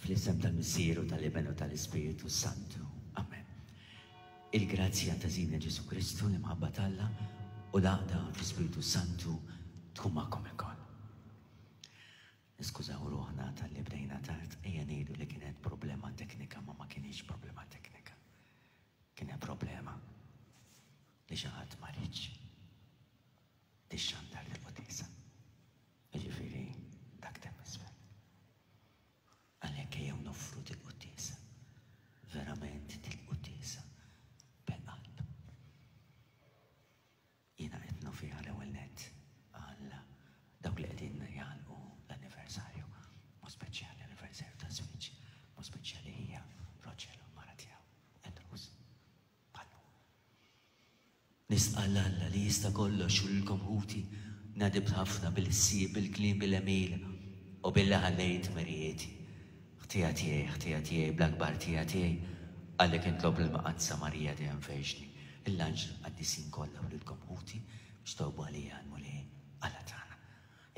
Fl-isem tal-Missier u tal-Iben u tal-Ispirtu Santu. Amen. Il-grazzja ta' Sidna Ġesù Kristu, l-imħabba t'Alla u l-għaqda fl-Ispirtu Santu tkun magħkom ilkoll. Niskużaw ruħna talli bdejna tard, ejja ngħidu li kienet problema teknika ma ma kinitx problema teknika. Kienet problema li xi ħadd ma riedx tixxandar l-quddiesa. Jiġifieri dak temm isfel. Għalhekk ejjew noffru dil-quddiesa, verament dil-quddiesa bil-qalb. Jiena qed nofriha l-ewwel nett għal dawk li qegħdin jagħlqu l-anniversarju, mod speċjali l-anniversarju taż-żwieġ, mod speċjali hija Roger u l-mara tiegħu, Andrews. Bħal Nistqarr 'l Alla li jista' kollox u lilkom ħuti, nadibt ħafna bil-ħsieb, bil-kliem, bil-għemil, u billi ħallejt merijieti. Ħtija tiegħi, ħtija tiegħi, bl-akbar ħtija tiegħi, għalhekk nitlob lill-Mqaddsa Marija dejjem Verġni, lill-anġli l-qaddisin kollha u lilkom ħuti biex titolbu għalija għall-Mulej Alla tagħna.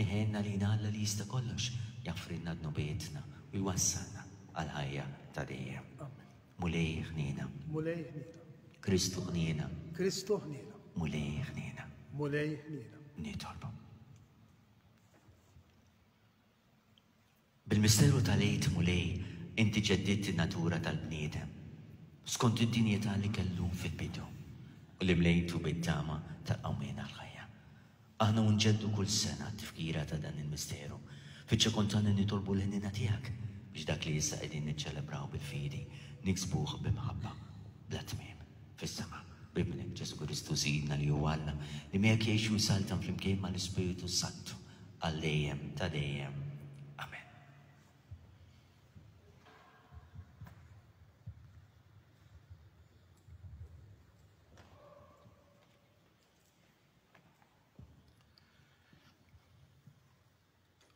Iħenn għalina Alla li jista' kollox, jaħfrilna dnubietna u jwassalna għall-ħajja ta' dejjem. Mulej ħniena. Mulej ħniena. Kristu ħniena. Kristu ħniena. Mulej ħniena. Mulej ħniena. Nitolbu. Bil-misteru tal-Għid Mulej, inti ġeddidt in-natura tal-bniedem, skont id-dinjità li kellu fil-bidu, u li mlejtu bit-tama tal-qawmien għall-ħajja. Aħna u nġeddu kull sena t-tifkira ta' dan il-misteru, fiċ-ċokon tagħna nitolbu l-ħniena tiegħek biex dak li issa qegħdin niċċelebraw bil-fidi niksbuh bi mħabba bla tmiem fis-sema. B'Ibnek Ġesù Kristu Sidna li hu Alla, li miegħek jgħix u jsaltan flimkien mal-Ispirtu s-Santu għal dejjem ta' dejjem. Amen.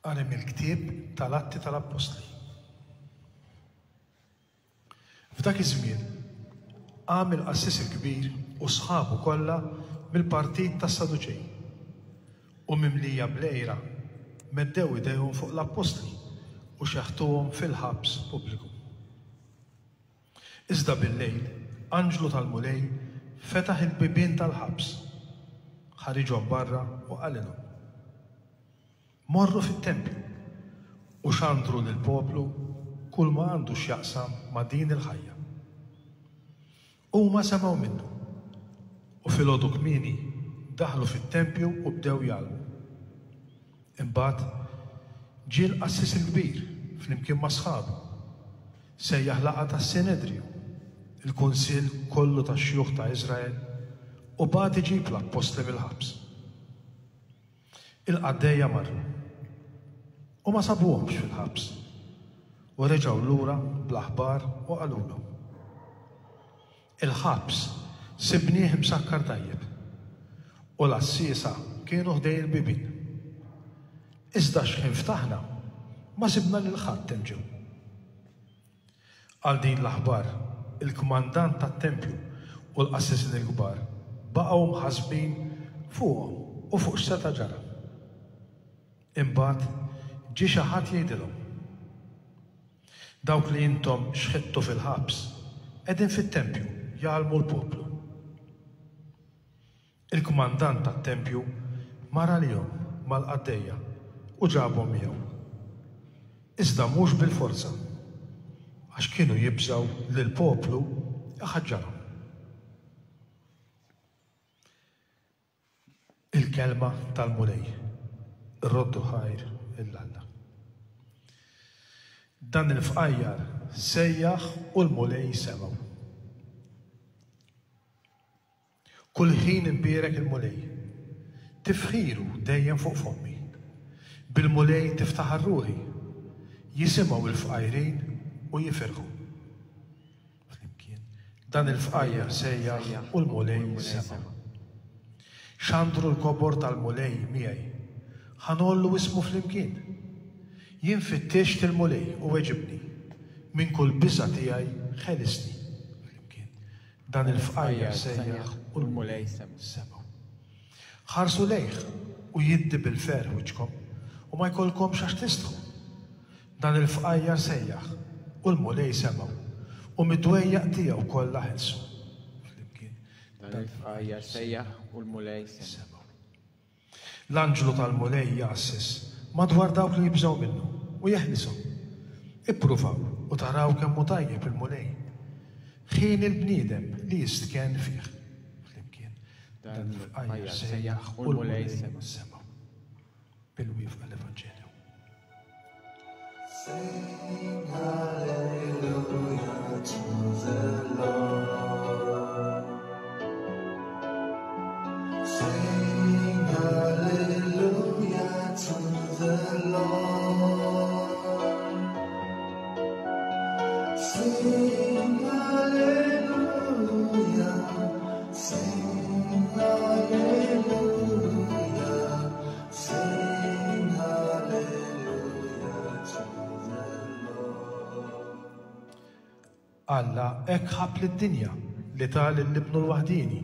Qari mill-ktieb tal-Atti tal-Appostli. F'dak iż-żmien qam il-qassis il-kbir u sħabu kollha mill-partit tas-Saduċej, u mimlija bl-għira meddew idejhom fuq l-appostli u xeħtuhom fil-ħabs pubbliku. Iżda billejl, anġlu tal-Mulej fetaħ il-bibien tal-ħabs, ħariġhom barra u qalilhom, Morru fit-tempju u xandru lill-poplu kulma għandu x'jaqsam ma' din il-ħajja. Huma semgħu minnu, u filgħodu kmieni daħlu fit-tempju u bdew jgħallmu. Imbagħad ġie l-qassis il-kbir flimkien ma' sħabu, sejjaħ laqgħa tas-Sinedriju, il-kunsill kollu tax-xjuħ ta' Iżrael, u bagħat iġib l-appostli mill-ħabs. Il-qaddejja marru, u ma sabuhomx fil-ħabs, u reġgħu lura bl-aħbar u qalulhom. Il-ħabs sibnieh imsakkar tajjeb, u l-għassiesa kienu ħdejn il-bibien. Iżda x'ħin ftaħna, ma sibna lil ħadd hemm ġew. Għal din l-aħbar, il-kmandant tat-tempju u l-qassisin il-kbar baqgħu mħassbin fuqhom u fuq x'seta' ġara. Imbagħad ġie xi ħadd jgħidilhom, Dawk li intom xħittu fil-ħabs qegħdin fit-tempju jgħallmu l-poplu. Il-kmandant tat-tempju mar għalihom mal-qaddejja u ġabhom miegħu. Iżda mhux bil-forza, għax kienu jibżgħu li l-poplu iħaġġarhom. Il-Kelma tal-Mulej. Irroddu ħajr 'il Alla. Dan il-fqajjar sejjaħ u l-Mulej semgħu. Kull ħin inbierek il-Mulej. Tifħiru dejjem fuq fommi. Bil-Mulej tiftaħar ruħi. Jisimgħu l-fqajrin u jifirħu. Flimkien. Dan il-fqajjar sejjaħ u l-Mulej semgħu. Xandru l-kobor tal-Mulej miegħi. Ħa ngħollu ismu flimkien. Jien fittixt il-Mulej u weġibni. Minn kull biża' tiegħi ħelisni. Flimkien. Dan il-fqajjar sejjaħ u l-Mulej semgħu. Ħarsu lejh u jiddi bil-ferħ wiċċkom, u ma jkollkomx għax tistħu. Dan il-fqajjar sejjaħ u l-Mulej semgħu, u mid-dwejjaq tiegħu kollha ħelsu. Flimkien. Dan il-fqajjar sejjaħ u l-Mulej semgħu. L-anġlu tal-Mulej jgħasses madwar dawk li jibżgħu minnu, u jeħlishom. Ippruvaw u taraw kemm hu tajjeb il-Mulej. Ħieni l-bniedem li jistkenn fih. Flimkien, dan il-fqajjar sejjaħ u l-Mulej semgħu. Bil-wieqfa l-Evanġelju. Sing hallelujah to the Lord. Sing hallelujah to the Lord. Sing hallelujah. Sing hallelujah. Sing hallelujah to the Lord. Alla hekk ħabb lid-dinja li ta lil Ibnu l-waħdieni,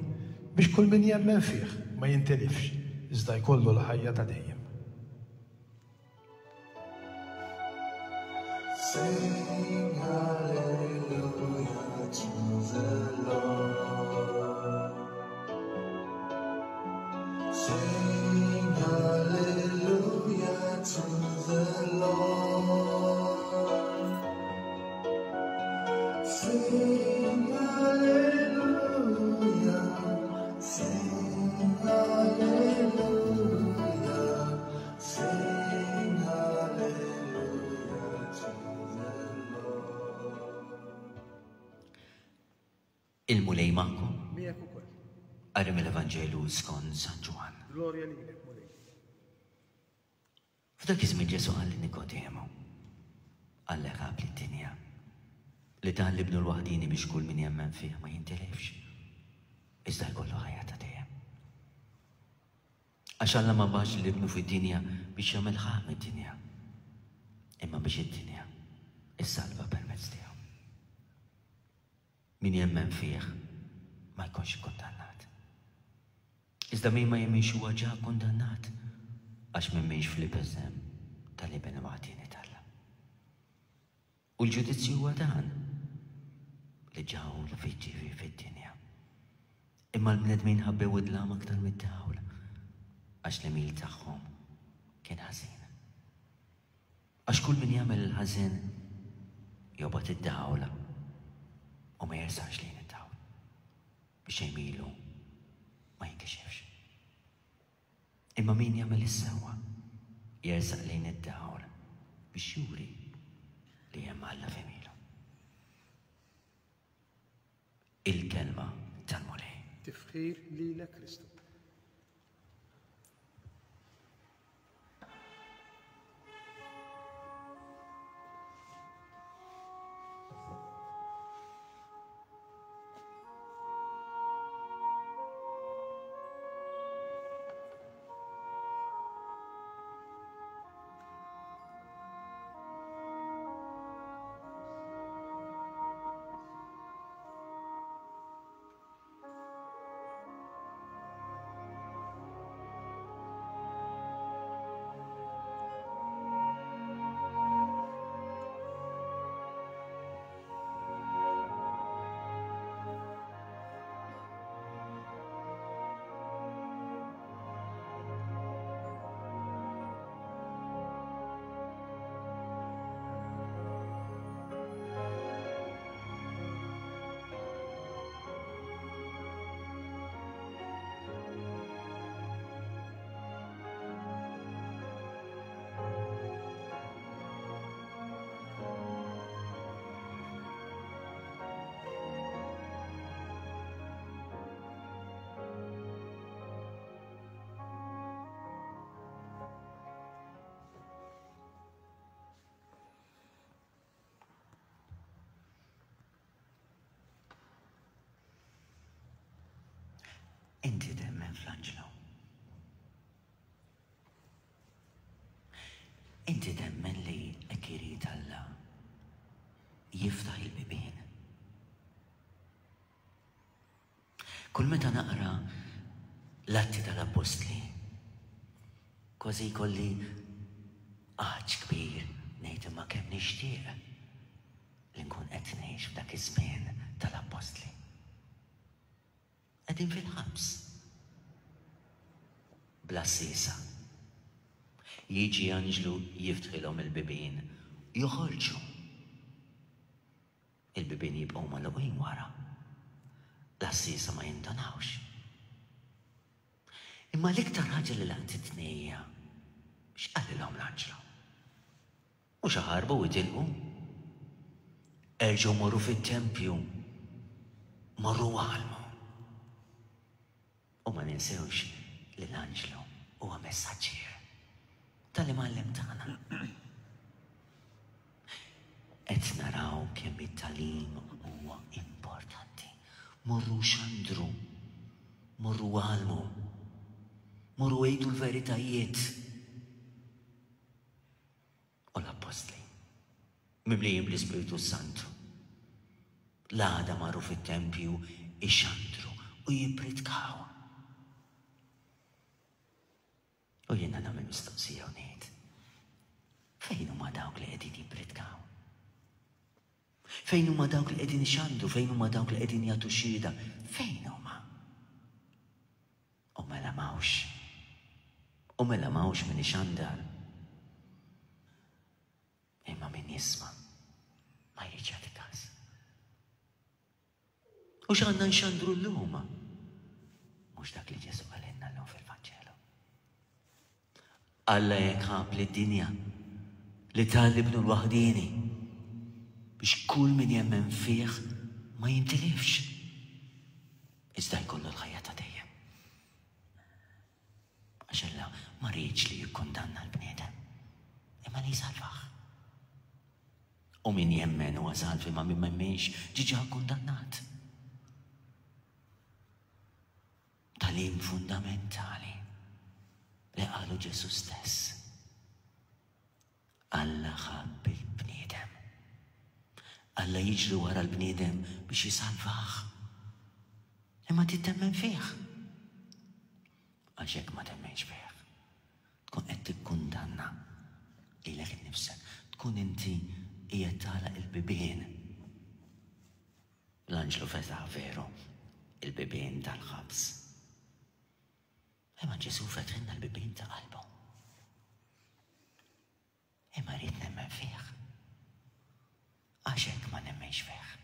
biex kull min jemmen fih ma jintilifx, iżda jkollu l-ħajja ta' dejjem. Sing hallelujah to the Lord. Sing hallelujah to the Lord. Sing hallelujah. Sing hallelujah. Sing hallelujah to the Lord. Il-Mulej magħkom. Miegħek ukoll. Qari mill-Evanġelju skont San Ġwann. Glorja lilek, Mulej. F'dak iż-żmien Ġesù qal lil Nikodemu, Alla ħabb lid-dinja, li ta lil Ibnu l-waħdieni biex kull min jemmen fih ma jintilifx, iżda jkollu ħajja ta' dejjem. Għax Alla ma bagħatx lil Ibnu fid-dinja biex jagħmel ħaqq mid-dinja, imma biex id-dinja ssalva permezz tiegħu. Min jemmen fih ma jkunx ikkundannat. Iżda min ma jemminx huwa ġa kkundannat, għax m'emminx fl-isem tal-Iben il-waħdieni t'Alla. U l-ġudizzju huwa dan, li ġawl fiġġivi fid-dinja. Imma l-bnedmin ħabbew id-dlam aktar mid-dawl, għax l-għemil tagħhom kien ħażin. Għax kull min jagħmel il-ħażin jobgħod id-dawl u ma jersaqx lejn id-dawl, biex għemilu ma jinkixifx. Imma min jagħmel is-sewwa jersaq lejn id-dawl biex juri li hemm Alla f'għemilu. Il-kelma tal-Mulej. Tifħir lilek Kristu. Inti temmen fl-anġlu. Inti temmen li hekk irid Alla jiftaħ il-bibien. Kull meta naqra l-Atti tal-Appostli, kważi jkolli għatx kbir ngħid imma kemm nixtieq li nkun qed ngħix f'dak iż-żmien tal-Appostli. Qegħdin fil-ħabs. Bla sisa. Jiġi anġlu jiftħilhom il-bibien, joħorġu. Il-bibien jibqgħu magħluqin wara. L-għassiesa ma jindunawx. Imma l-iktar ħaġa li laqtitni hija x'qalilhom l-anġlu. Mhux aħarbu u itilqu. Erġgħu morru fit-tempju. Morru għallmu. U ma ninsewx li l-anġlu huwa messaġġier tal-imgħallem tagħna. Qed naraw kemm it-tagħlim huwa importanti. Morru xandru, morru għallmu, morru għidu l-veritajiet. U l-appostli, mimlijin bl-Ispirtu s-Santu, l-għada marru fit-tempju ixandru u jippritkaw. U jiena nagħmel mistoqsija u ngħid, fejn huma dawk li qegħdin jippritkaw? Fejn huma dawk li qegħdin ixandru? Fejn huma dawk li qegħdin jagħtu xhieda? Fejn huma? U mela m'hawnx. U mela m'hawnx min ixandar. Imma min jisma' ma jridx jagħti każ. U x'għandna nxandru llum? Mhux dak li Ġesù qalilna llum fil-Vanġelu. Alla hekk ħabb lid-dinja li ta 'l Ibnu l-waħdieni biex kull min jemmen fih ma jintilifx, iżda jkollu l-ħajja ta' dejjem. Għax Alla ma riedx li jikkundanna l-bniedem, imma li jsalvah. U min jemmen huwa salv imma min ma jemminx ġiġa kkundannat. Tagħlim fundamentali li qalu Ġesù stess. Alla ħabb il-bniedem. Alla jiġri wara l-bniedem biex jisalvah. Imma trid temmen fih. Għax jekk ma temmenx fih, tkun qed tikkundanna lilek innifsek. Tkun inti qiegħed tagħlaq il-bibien. L-anġlu fetaħ veru il-bibien tal-ħabs. Imma Ġesù fetħilna l-bibien ta' qalbu. Imma rrid nemmen fih. Għax hekk ma nemmenx fih.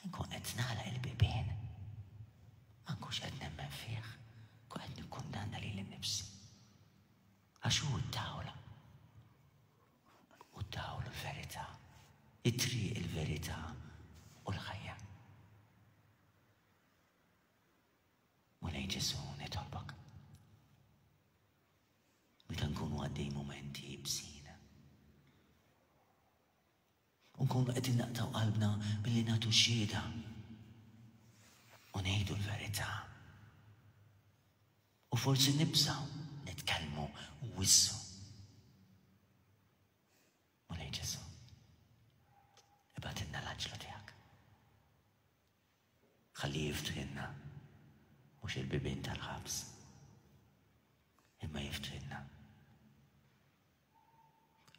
Nkun qed nagħlaq il-bibien. Ma nkunx qed nemmen fih. Nkun qed nikkundanna lili nnifsi. Għax hu d-dawl. U d-dawl u l-verità. It-triq, il-verità u l-ħajja. Mulej Ġesù, nitolbok. Meta nkunu għaddej mumenti ibsin. U nkunu qegħdin naqtgħu qalbna billi nagħtu xhieda u ngħidu l-verità. U forsi nibżgħu nitkellmu u wissu. Mulej Ġesù, ibgħatilna l-anġlu tiegħek. Ħalli jiftħilna mhux il-bibien tal-ħabs, imma jiftħilna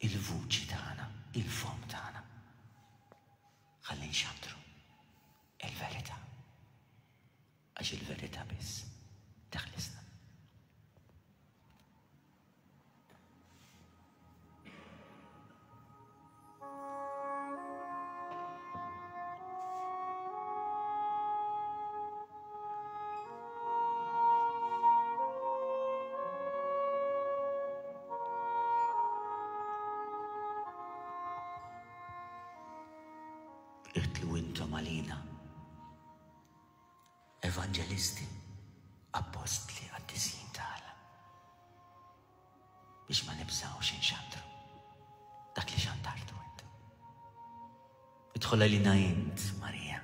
il-vuċi tagħna, il-fomm tagħna. Ħalli nxandru il-verità. Għax il-verità biss teħlisna. Idħlu intom għalina, evanġelisti, appostli, qaddisin ta' Alla, biex ma nibżgħux inxandru dak li xandartu int. Idħol għalina int, Marija,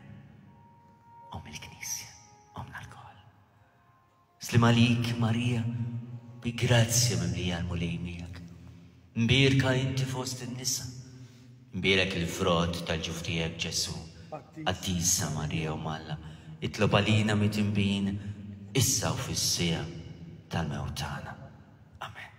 Omm il-Knisja, Ommna lkoll. Sliem għalik, Marija, bi grazzja mimlija l-Mulej miegħek. Mbierka inti fost in-nisa. Mbierek il-frott tal-ġuf tiegħek Ġesù. Qaddisa Marija Omm Alla, itlob għalina midinbin, issa u fis-siegħa tal-mewt tagħna. Amen.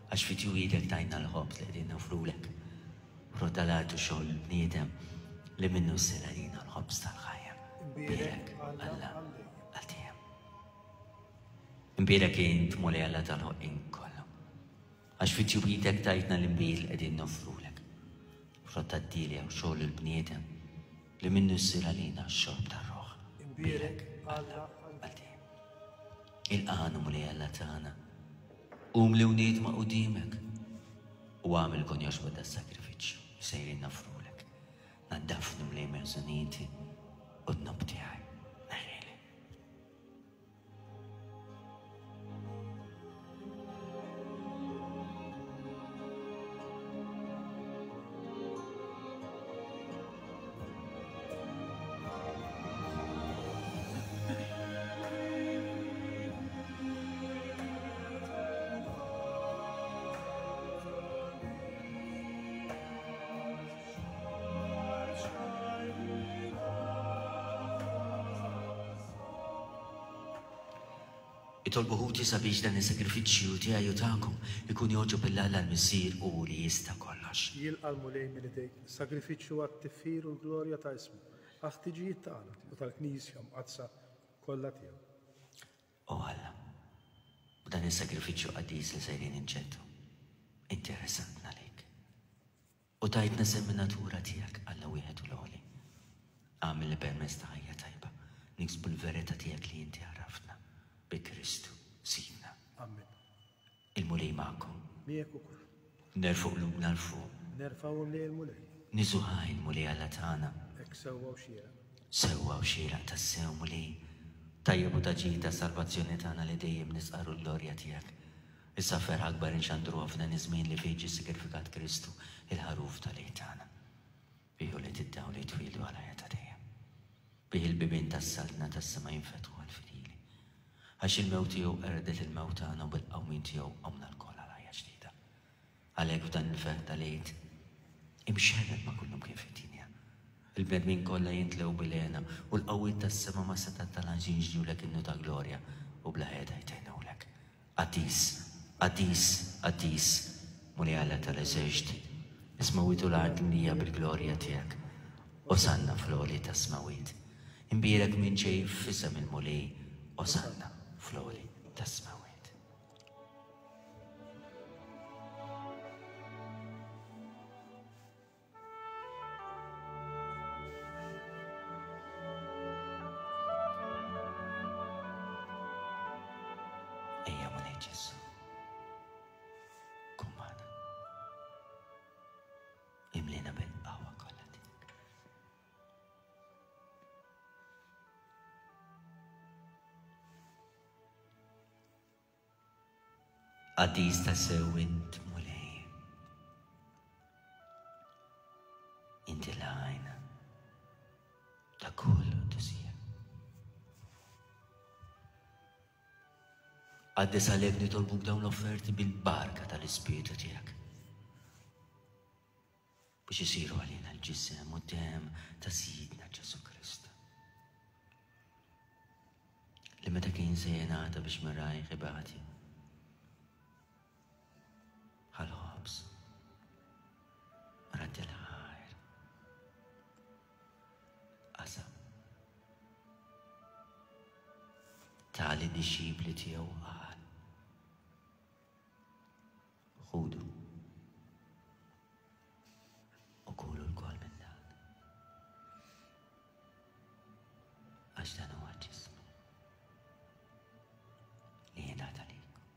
Għax fi tjuwidek tajna l-ħobż li qegħdin nofrulek. Frott tal-art u xogħol il-bniedem li minnu ssir għalina l-ħobż tal-ħajja. Imbierek Alla għal dejjem. Imbierek int Mulej Alla tal-ħolqien kollu. Għax fi tjuwidek tajtna l-inbid li qegħdin nofrulek. Frott tad-dielja u xogħol il-bniedem li minnu ssir għalina x-xorb tar-ruħ. Imbierek Alla għal dejjem. Ilqagħna Mulej Alla tagħna. Qum li wniedma quddiemek u agħmel kun jogħġbok das-sagrifiċċju li sejrin noffrulek. Naddafni Mulej meħżuniti u d-dnub tiegħi. Neħħili. Itolbu ħuti sabiex dan is-sagrifiċċju tiegħi u tagħkom ikun jogħġob lil Alla l-Missier u li jista' kollox. Jilqa' l-Mulej minn idejk sagrifiċċju għat-tifħir u l-glorja ta' ismu, għall-ħtiġijiet tagħna u tal-Knisja mqaddsa kollha tiegħu. O Alla, b'dan is-sagrifiċċju qaddis li sejrin inġeddu, inti ressaqtna lejk. U tajtna sehem min-natura tiegħek, Alla wieħed u l-għoli. Agħmel li permezz ta' ħajja tajba niksbu l-verità tiegħek li inti għarraftna, bi Kristu Sidna. Amen. Il-Mulej magħkom. Miegħek ukoll. Nerfgħu qlubna 'l fuq. Nerfgħuhom lejn il-Mulej. Niżu ħaj il-Mulej Alla tagħna. Hekk sewwa u xieraq. Sewwa u xieraq tassew, Mulej. Tajjeb u ta' ġid għas-salvazzjoni tagħna li dejjem nistqarru l-glorja tiegħek. Issa b'ferħ akbar inxandruha f'dan iż-żmien li fih ġie ssigrifikat Kristu, il-Ħaruf tal-Għid tagħna. Bih ulied id-dawl jitwieldu għal ħajja ta' dejjem. Bih il-bibien tas-saltna tas-sema jinfetħu għall-fidili. Għax il-mewt tiegħu qerdet il-mewt tagħna u bil-qawmien tiegħu qomna lkoll għal ħajja ġdida. Għalhekk f'dan il-ferħ tal-Għid, imxerred ma' kullimkien fid-dinja, il-bnedmin kollha jintlew bil-hena u l-qawwiet tas-sema mas-setgħat tal-anġli jinxdulek innu ta' glorja u bla heda jtennulek, Qaddis, qaddis, qaddis, Mulej Alla tal-eżerċti, is-smewwiet u l-art mimlija bil-glorja tiegħek. Osanna fl-għoli tas-smewwiet. Imbierek min ġej f'isem il-Mulej, Osanna fl-għoli tas-smewwiet. Ejja Mulej Ġesù. Kun magħna. Imlina bil-qawwa kollha tiegħek. Qaddis tassew int Mulej. Inti l-għajn ta' kull qdusija. Qaddis għalhekk nitolbuk dawn l-offerti bil-barka tal-Ispirtu tiegħek. Biex isiru għalina l-ġisem u d-demm ta' Sidna Ġesù Kristu. Li meta kien se jingħata biex minn rajh ibati. Ħal-ħobż. Radd il-ħajr. Qasam. Ta lid-dixxipli tiegħu qal. Ħudu u kulu lkoll minn dan. Għax dan huwa ġismi li jingħata lilkom.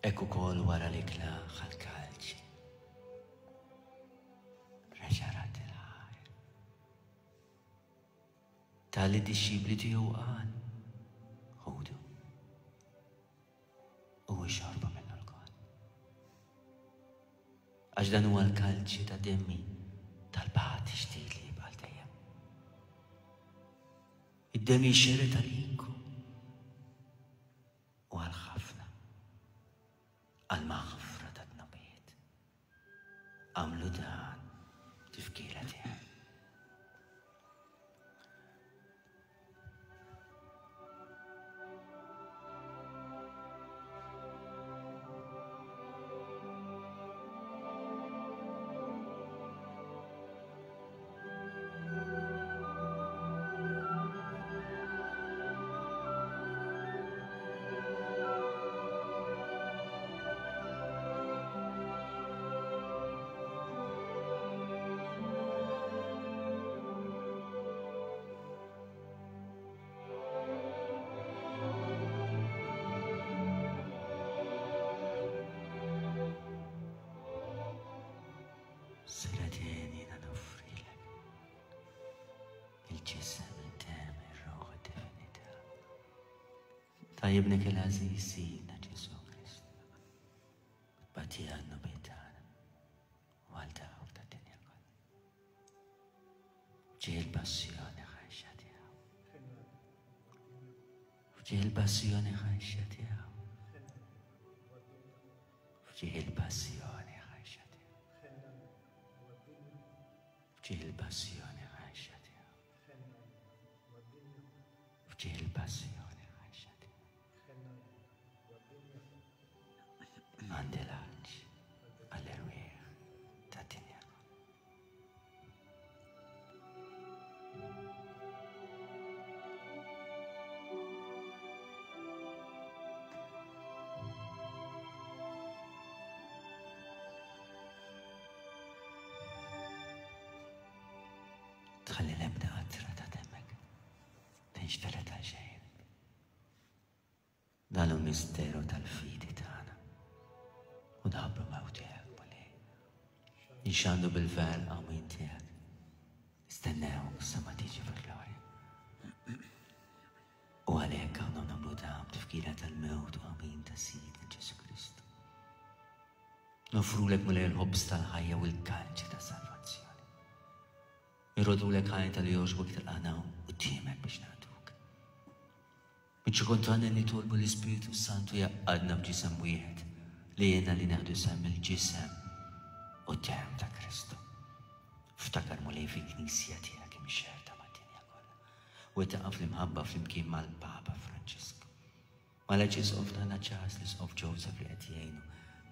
Hekk ukoll wara l-ikla ħall-kalċi. Reġa' radd il-ħajr. Ta lid-dixxipli tiegħu qal, Ħudu u ixorbu minnu lkoll. Għax dan huwa l-kalċi ta' demmi tal-patt ġdid li jibqa' dejjem. Id-demm jixxerred għalikom u għal ħafna għall-maħfra tad-dnubiet. Agħmlu dan b'tifkira tiegħi. Siraden jiena noffrilek il-ġisem, id-demm, ir-ruħ, id-divinità ta' Ibnek il-għażiż Sidna Ġesù Kristu. Tbatija għan-dnubiet tagħna u għal dawk tad-dinja kollha. F'ġieħ il-passjoni ħajxa tiegħu. F'ġieħ il-passjoni ħajxa tiegħu. F'ġieħ il-passjoni ħajxa tiegħu. F'ġieħ il-passjoni ħajxa tiegħu. F'ġieħ il-passjoni ħajxa tiegħu. Għandi l-għatx għall-erwieħ tad-dinja kollha. Tħalli l-ebda qatra ta' demmek tinxtered għal xejn. Dan hu misteru tal-fidi tagħna. U nħabbru mewt tiegħek, Mulej. Nxandu bil-ver qawmien tiegħek. Nistennewk sa ma tiġi fil-glorja. U għalhekk aħna nagħmlu dan b'tifkira tal-mewt u qawmien ta' Sidna Ġesù Kristu. Nofrulek Mulej il-ħobż tal-ħajja u l-kalċi ta' salvazzjoni. Irrodulek ħajta li jogħġbok tilqagħna quddiemek biex nagħtuk. Biċ-ċokon tagħna nitolbu l-Ispirtu s-Santu jgħaqqadna f'ġisem wieħed li jgħinna li neħdu sehem mill-ġisem u d-demm ta' Kristu. Ftakar Mulej fil-Knisja tiegħek imxerrda mad-dinja kollha, u taqaf l-imħabba flimkien mal-Papa Franġisku, mal-Arċisqof tagħna Charles, l-Isqof Joseph li qed jgħinu,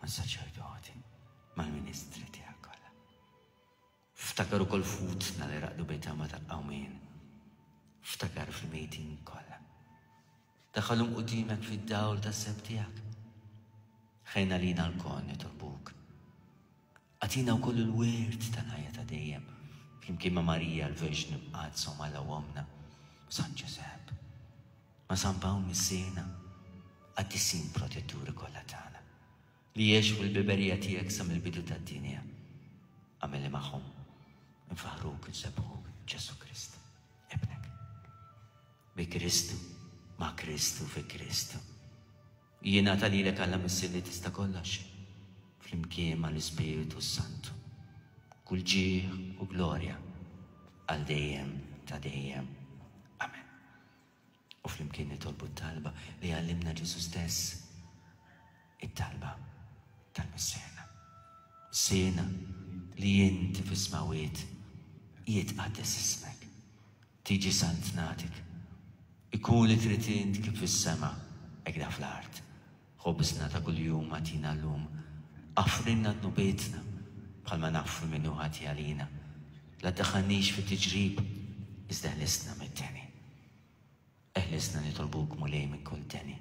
mas-saċerdoti, mal-ministri tiegħek kollha. Ftakar ukoll f'ħutna li raqdu bit-tama tal-qawmien. Ftakar fil-mejtin kollha. Daħħalhom quddiemek fid-dawl tas-sebħ tiegħek. Ħejna lina lkoll nitolbuk. Agħtina wkoll il-wirt tal-ħajja ta' dejjem, flimkien ma' Marija l-Verġni Mqaddsa u m'Alla Ommna, San Ġużepp, ma' San Pawl Missierna, qaddisin protetturi kollha tagħna, li għexu fil-biberija tiegħek sa mill-bidu tad-dinja. Agħmel li magħhom infaħħruk, insebbħuk, Ġesù Kristu, Ibnek. Bi Kristu, ma' Kristu, fi Kristu. Jingħata lilek Alla Missier li tista' kollox, flimkien mal-Ispirtu s-Santu, kull ġieħ u glorja għal dejjem ta' dejjem. Amen. U flimkien nitolbu t-talba li għallimna Ġesù stess, it-talba tal-Missierna. Missierna li inti fis-smawwiet, jitqaddes ismek. Tiġi saltnatek. Ikun li trid int kif fis-sema, hekk fl-art. Ħobżna ta' kuljum agħtina llum. Aħfrilna dnubietna, bħalma naħfru min hu ħati għalina. La ddaħħalniex fit-tiġrib, iżda eħlisna mid-deni. Eħlisna nitolbuk, Mulej, minn kull deni.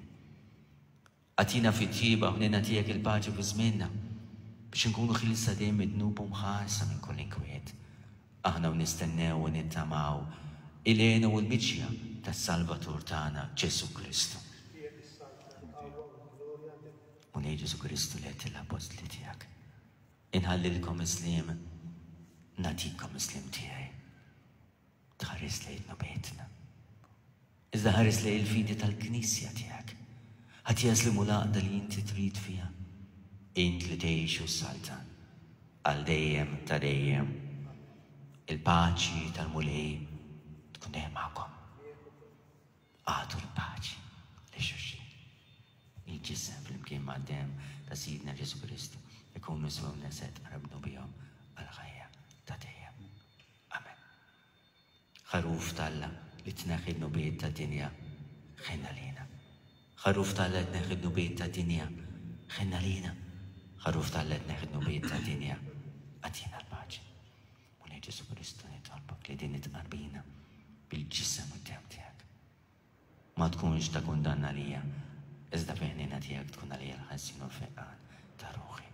Agħtina fit-tjieba u ħniena tiegħek il-paċi fi żmienna, biex inkunu ħielsa dejjem mid-dnub u mħarsa minn kull inkwiet, aħna u nistennew u nittamaw il-hena u l-miġja tas-Salvatur tagħna, Ġesù Kristu. Mulej Ġesù Kristu li għedt lill-appostli tiegħek, Inħallilkom is-sliem, nagħtikom is-sliem tiegħi. Tħares lejn dnubietna. Iżda ħares lejn il-fidi tal-Knisja tiegħek. Ħadd jaslim u l-għaqda li inti trid fiha. Int li tgħix u ssaltan għal dejjem ta' dejjem. Il-paċi tal-Mulej tkun dejjem magħkom. Agħtu l-paċi lil xulxin. Il-ġisem flimkien mad-demm ta' Sidna Ġesù Kristu ikunu swewna se tqarbnu bihom għall-ħajja ta' dejjem. Amen. Ħaruf t'Alla li tneħħi d-dnubiet tad-dinja, ħenn għalina. Ħaruf t'Alla li tneħħi d-dnubiet tad-dinja, ħenn għalina. Ħaruf t'Alla li tneħħi d-dnubiet tad-dinja, agħtina l-paċi. Mulej Ġesù Kristu nitolbok li din it-tqarbina bil-ġisem u d-demm tiegħek ma tkunx ta' kundanna għalija, iżda fil-ħniena tiegħek tkun għalija l-ħelsien u l-fejqan ta' ruħi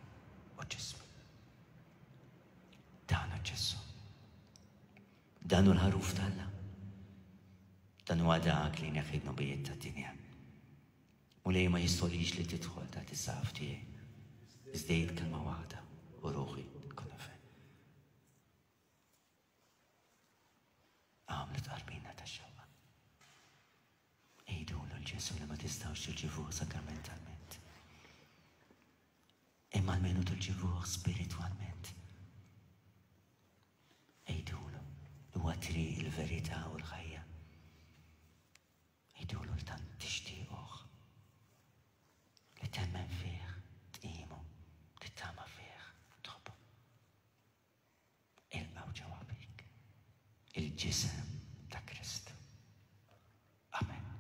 u ġismi. Dan hu Ġesù. Dan hu l-ħaruf t'Alla. Dan huwa dak li jneħħi d-dnubijiet tad-dinja. Mulej ma jistolix li tidħol taħt is-saqaf tiegħi. Iżda jgħid kelma waħda u ruħi tkun fe. Għamlu tqarbina ta' xewqa. Għidulu l-Ġesù li ma tistgħux tirċivuh sakramentalment. Imma almenu tirċivuh spiritwalment. Għidulu li huwa triq il-verità u l-ħajja. Għidulu li tant tixtiequh. Li temmen fih, tqimu, tittama fih, tħobbu. Ilqgħu ġewwa fik il-ġisem ta' Kristu. Amen.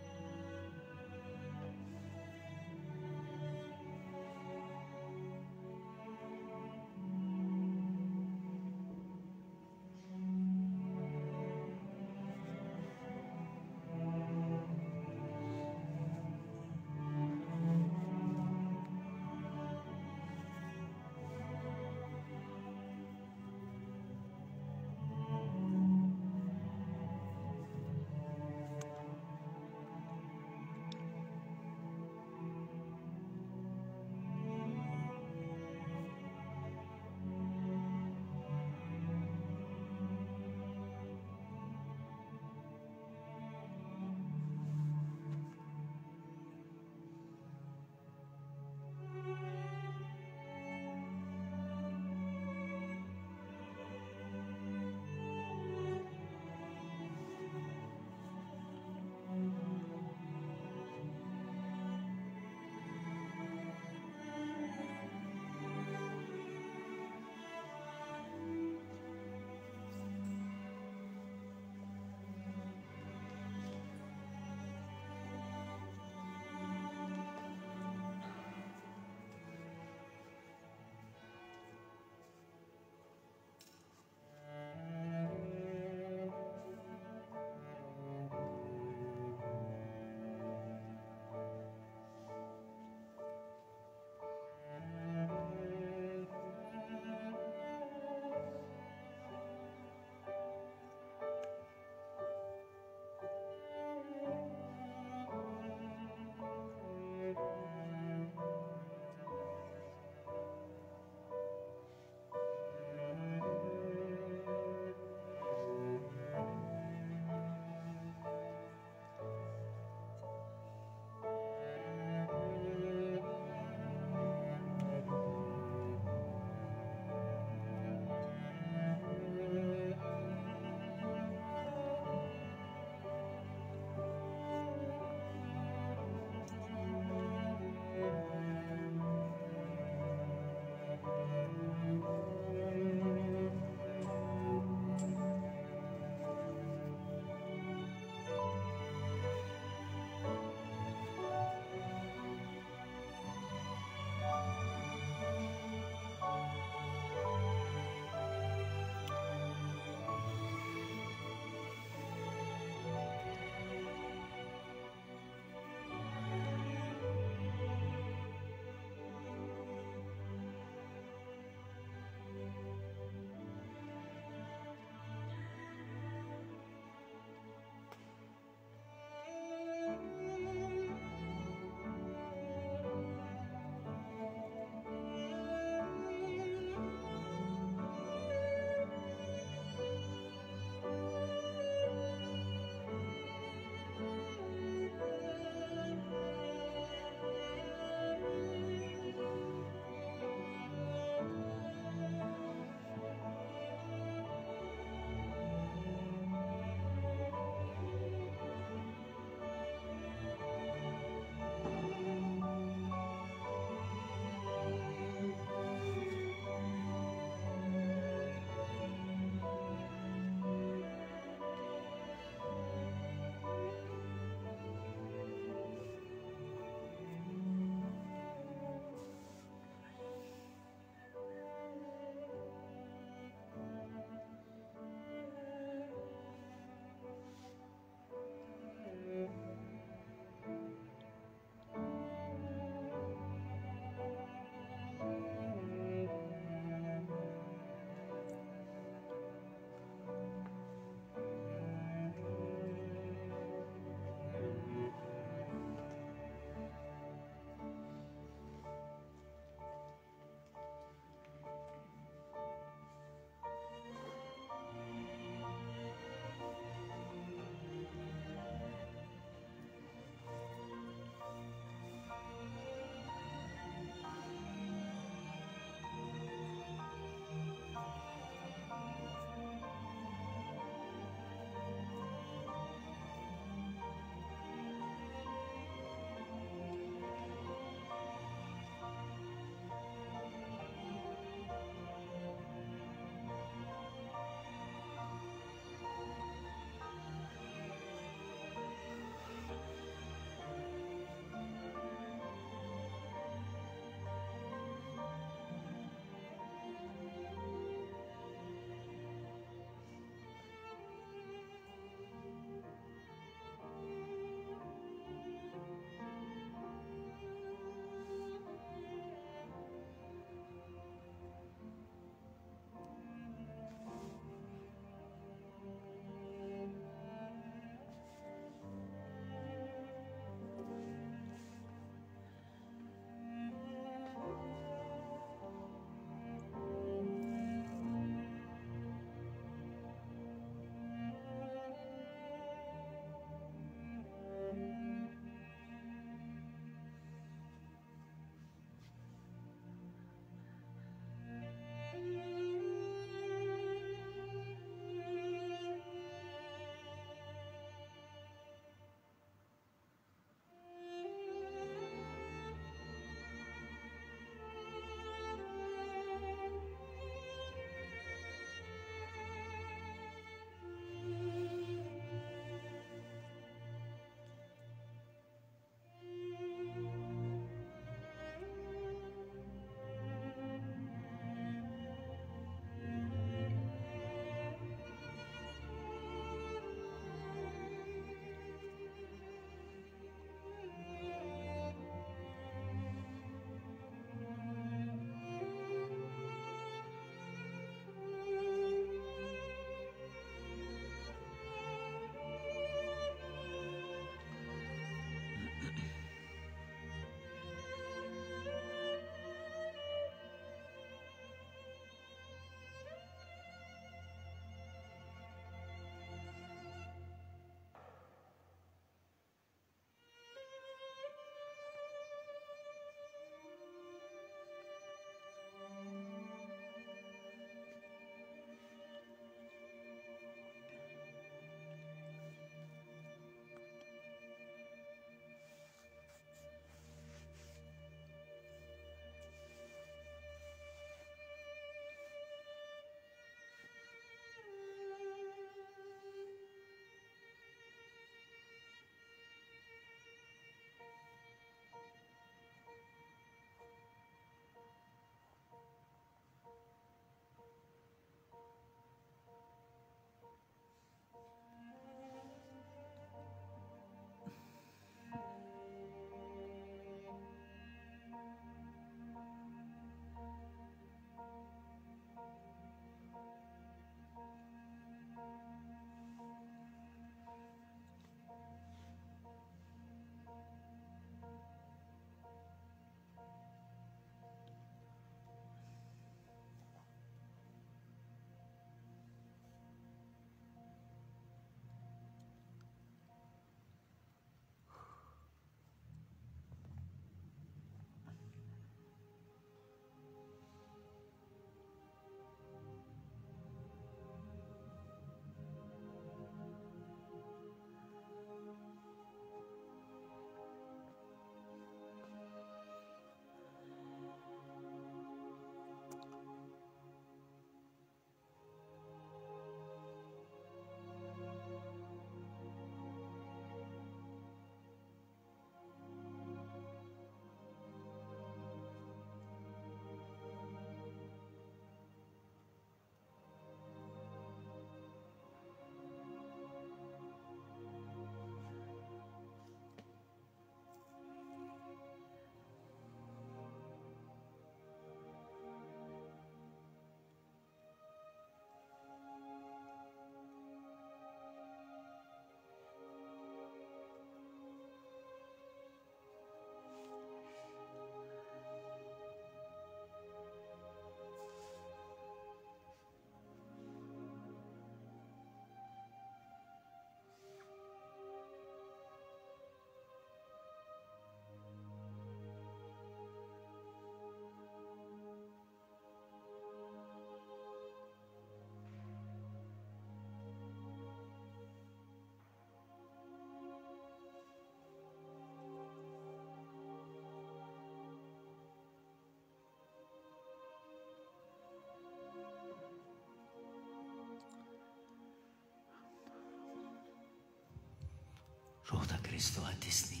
Ruħ ta' Kristu qaddisni,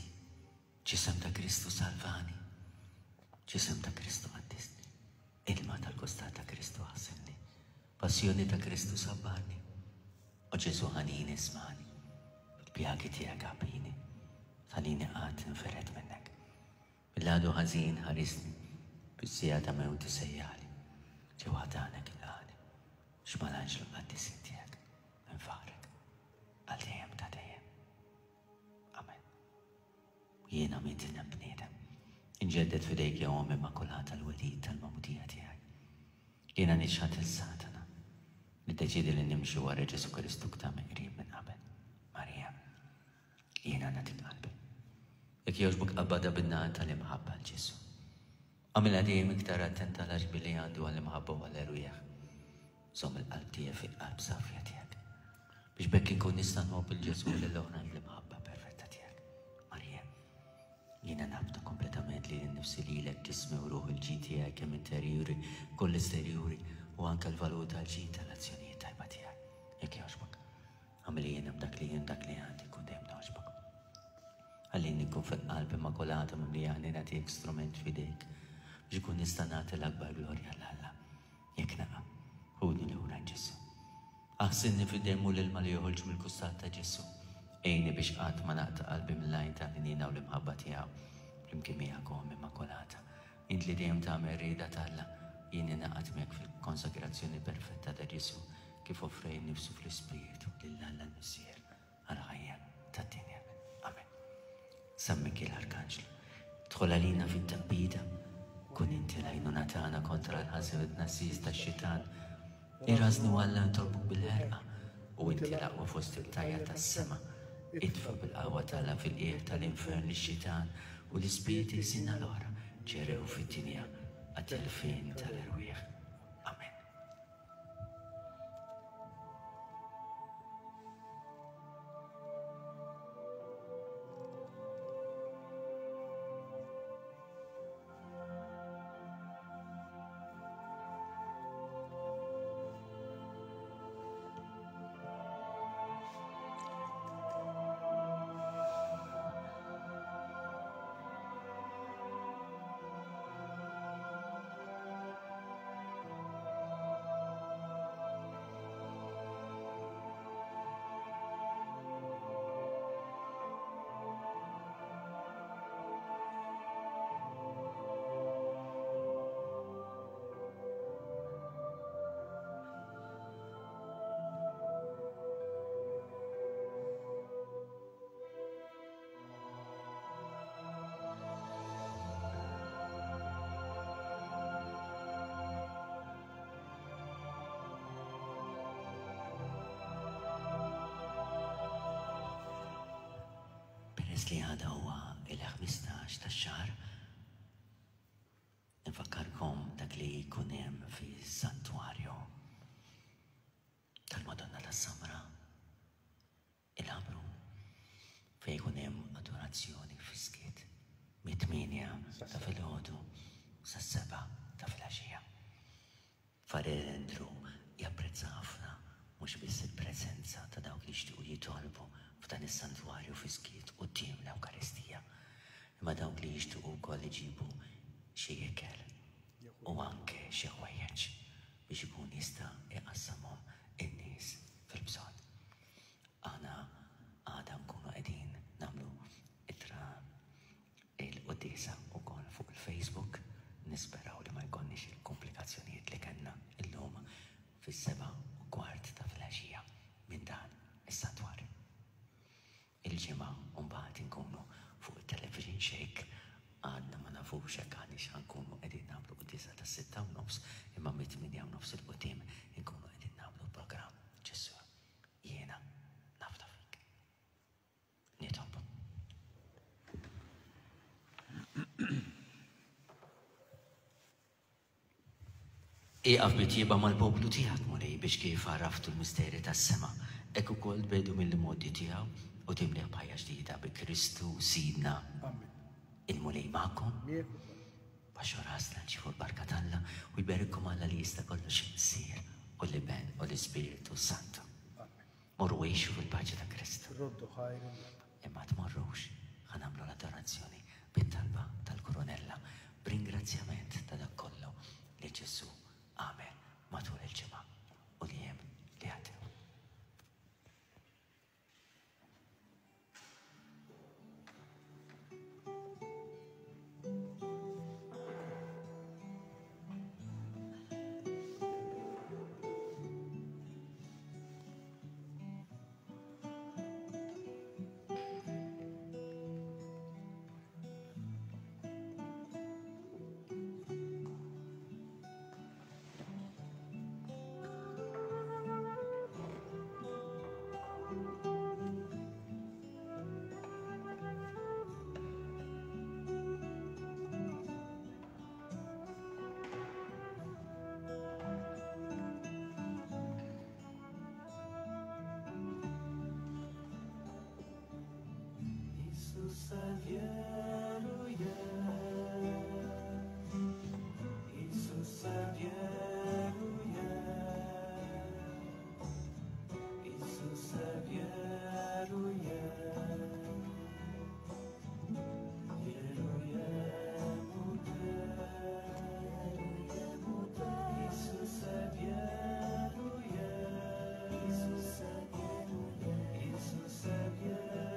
Ġisem ta' Kristu salvani, Ġisem ta' Kristu qaddisni, Ilma tal-kustat ta' Kristu aħsilni, Passjoni ta' Kristu sabbarni, O Ġesù ħanin ismagħni, Bil-pjagi tiegħek għabbini, Tħallini qatt ninfered minnek. Mill-għadu ħażin ħarisni, Fis-siegħa ta' mewti sejjaħli, Ġewwa ħdanek ilqagħni, Biex mal-anġlu qaddisin tiegħek Infaħħrek għal dejjem ta' dejjem. Amen. Jiena midneb bniedem. Inġedded f'idejk ja Omm Immakulata l-welid tal-magħmudija tiegħi. Jiena niċħad 'il Satana. Niddeċiedi li nimxi wara Ġesù Kristu ktar mill-qrib minn qabel. Marija, jiena nagħtik qalbi. Jekk jogħġbok qabbadha bin-nar tal-imħabba għal Ġesù. Agħmilha dejjem iktar attenta għal għaġbi li għandu għall-imħabba u għall-erwieħ. Żomm il-qalb tiegħi fil-qalb safja tiegħek, biex b'hekk inkun nista' nħobb 'il Ġesù u lill-oħrajn bl-imħabba perfetta tiegħek. Marija, jiena nafda kompletament lili nnifsi lilek, ġismi u ruħi l-ġid tiegħi kemm interjuri koll esterjuri u anke l-valur tal-ġid tal-azzjonijiet tajba tiegħi. Jekk jogħġbok, agħmilli jiena b'dak li jien dak li għandi nkun dejjem nogħġbok. Ħallini nkun fil-qalb immakulata mimlija ħniena tiegħek strument f'idejk biex inkun nista' nagħti l-akbar glorja 'l Alla. Jekk naqa', ħudni lura għand Ġesù. Aħsilni fid-demm u l-ilma li joħorġu mill-kustat ta' Ġesù. Għinni biex qatt ma naqta' qalbi mill-għajn tal-ħniena u l-imħabba tiegħu. Flimkien miegħek, o Omm Immakulata, int li dejjem tagħmel ir-rieda t'Alla, jien ningħaqad miegħek fil-konsagrazzjoni perfetta ta' Ġesù kif offrejh innifsu fl-Ispirtu lil Alla l-Missier. għall-ħajja tad-dinja. Amen. San Mikiel Arkanġlu, dħol għalina fit-taqbida, kun inti l-għajnuna tagħna kontra l-ħażin u t-tnassis tax-xitan. Irażnu Alla nitolbuk bil-ħerqa, u inti l-aqwa fost il-tajja tas-sema. Itfa' bil-qawwa t'Alla fil-qiegħ tal-infern lix-xitan u l-ispirti ħżiena l-oħra ġerew fid-dinja għat-telfien tal-erwieħ. Amen. Peress li għada huwa il-15 tax-xahar, infakkarkom dak li jkun hemm fis-santwarju tal-Madonna tas-Samra. Il-Ħamrun, fejn ikun hemm adorazzjoni fis-skiet mit-tmienja ta' filgħodu sas-sebgħa ta' filgħaxija. Farel Andrew japprezza ħafna mhux biss il-preżenza ta' dawk li jixtiequ jitolbu f'dan is-santwarju fis-skiet quddiem l-Ewkaristija, imma dawk li jixtiequ wkoll iġibu xi ikel u anke xi ħwejjeġ biex ikun jista' jqassamhom in-nies fil-bżonn. Aħna għada nkunu qegħdin nagħmlu ittra il-quddiesa wkoll fuq il-Facebook. Nisperaw li ma jkollniex il-komplikazzjonijiet li kellna illum fis-7:15 ta' filgħaxija minn dan is-santwarju. Il-Ġimgħa mbagħad inkunu fuq it-television xejk għadna ma nafux jekk aħniex ħa nkunu qegħdin nagħmlu quddiesa tas-6:30 imma mit-8:30 'il quddiem inkunu qegħdin nagħmlu programm Ġesù jiena nafda fik. Nitolbu. Ieqaf bi tjieba mal-poplu tiegħek, Mulej, biex kif għarraftu l-misteri tas-sema, hekk ukoll tbiegħdu mill-imgħoddi tiegħu u timlieh b'ħajja ġdida bi Kristu Sidna. Il-Mulej magħkom. Baxxu rasna nċievu l-barka t'Alla u jberikkom Alla li jista' kollox il-Missier u l-Iben u l-Ispirtu s-Santu. Morru għixu fil-paċi ta' Kristu. Imma tmorrux, ħa nagħmlu l-adorazzjoni bit-talba tal-Kurunella b'ringrazzjament ta' dak kollu li Ġesù għamel matul il-ġimgħa u l-jiem li għaddew. Isusa vjerujem, Isusa vjerujem, Isusa vjerujem, vjerujem u te, vjerujem u te, Isuse vjerujem, Isuse vjerujem, Isuse vjerujem,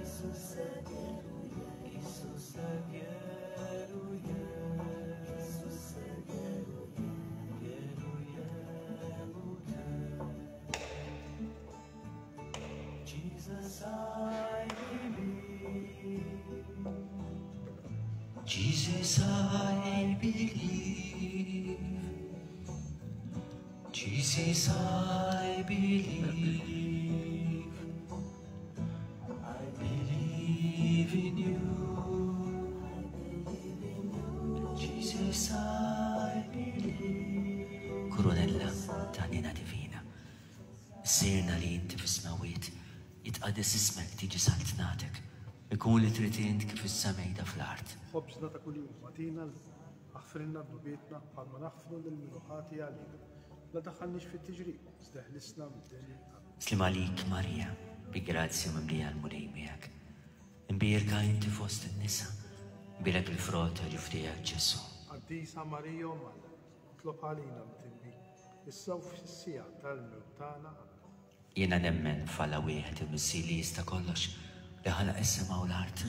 Isuse vjerujem, Isuse vjerujem, Isuse vjerujem, vjerujem u te. Jesus, I believe. Jesus, I believe. Jesus, I believe. I believe in you. Jesus, I believe. Kurunella ta' ħniena divina. Missierna li inti fis-smewwiet, jitqaddes ismek, tiġi saltnatek, ikun li trid int kif fis-sema jda fl-art. Ħobżna ta' kuljum agħtina llum. Aħfrilna dnubietna bħalma naħfru lil min hu ħati għalina. La daħħalniex fit-tiġrib, iżda eħlisna mid-deni. Amen. Sliem għalik Marija, bi grazzja mimlija l-Mulej miegħek. Imbierka inti fost in-nisa, imbierek il-frott ta' ġuf tiegħek Ġesù. Qaddisa Marija Omm Alla, itlob għalina midinbin, issa u fis-siegħa tal-mewt tagħna. Amen. Jiena nemmen f'Alla wieħed il-Missier li jista' kollox, li ħalaq is-sema u l-art,